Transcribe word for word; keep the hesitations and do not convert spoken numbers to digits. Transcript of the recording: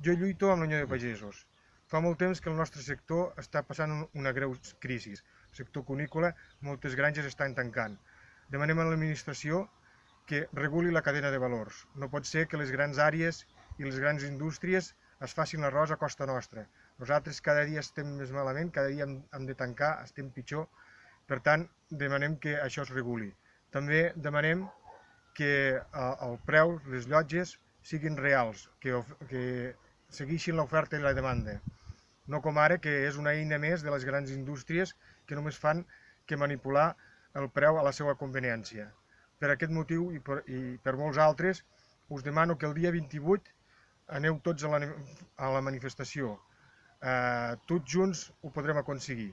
Jo lluito amb la Unió de Pagesos. Fa molt temps que el nostre sector està passant una greu crisi. El sector cunícola, moltes granges estan tancant. Demanem a l'administració que reguli la cadena de valors. No pot ser que les grans àrees i les grans indústries es facin l'arròs a costa nostra. Nosaltres cada dia estem més malament, cada dia hem de tancar, estem pitjor. Per tant, demanem que això es reguli. També demanem que el preu, les llotges, siguin reals, que, que segueixin l'oferta i la demanda. No com ara, que és una eina més de les grans indústries que només fan que manipular el preu a la seva conveniència. Per aquest motiu i per, i per molts altres, us demano que el dia vint-i-vuit aneu tots a la, a la manifestació. Eh, tots junts ho podrem aconseguir.